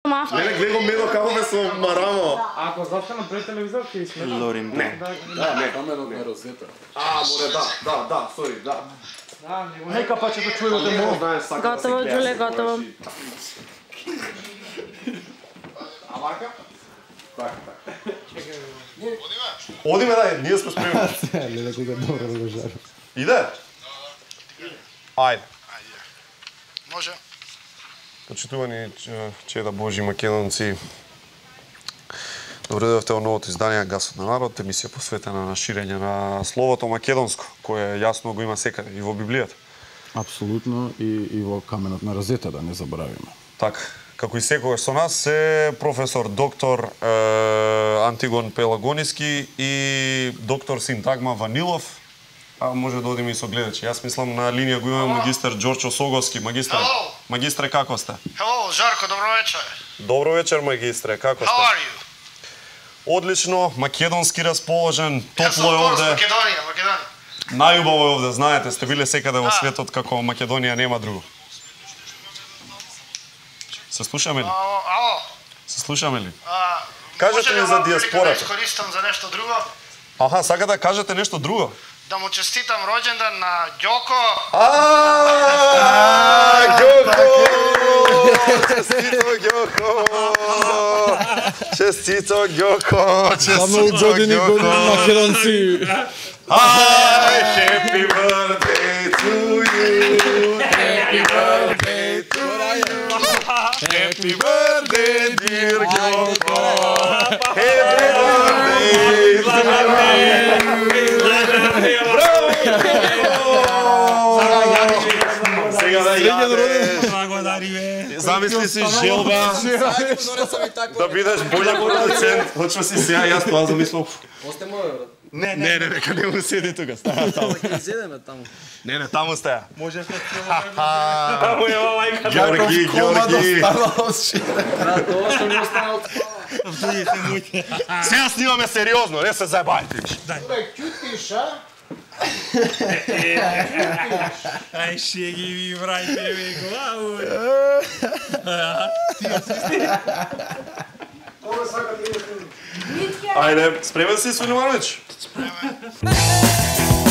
мафта. Не, гледам медо како ме со марамо. Ако застанам пред телевизор, ќе смета. Лорин. Не. Да, камерот на Розета. Море, да, сори, да. Нека пачето чујте му. Готово, Џуле, готово. А вака? Така. Одиме, да, ние сме спремни. Леле, кога добро да го жарам. Иде? Ајде. Може. Почитувани чеда Божи македонци, добре дојдовте во новото издание Гасот на народ, емисија посветена на ширење на словото македонско, кое јасно го има секаде и во Библијата. Апсолутно и во каменот на Розета, да не заборавиме. Така, како и секогаш со нас е професор доктор Антигон Пелагониски и доктор Синтагма Ванилов. А може да одиме и со гледачи. Јас мислам на линија го имаме магистар Ѓорчо Соговски. Магистре, како сте? Hello, Жарко, добро вечер. Добро вечер, магистре, како сте? How are you? Одлично, македонски расположен, Јас сум топло е овде. Македонија. Најубаво е овде, знаете, сте биле секаде во светот како Македонија нема друго. Се слушаме ли? Ало. Се слушаме ли? Кажете ми за диаспората. Да искористам за нешто друго. Аха, сака да кажете нешто друго? Да му честитам роđendan на Ѓоко. Честито Ѓоко! Само години македонци. Happy birthday to you. Happy birthday to you. Happy birthday dear Ѓoко. Happy birthday to you. Сега да јадеш. Замисли си желба да бидеш болја продуцент. Точно си сега, јас тоа замислам. Осте моје, брат. Не, нека не му седи тука, става таму. Ќе седеме таму. Не, таму стаја. Може да Таму е мајка. Ѓорги. Брат, тоа што ми останал. Сега снимаме сериозно, не се заебајте. Ај шеги ви врајте ми главу. Ајде, спремен си, Сулеймановиќ? Спремен.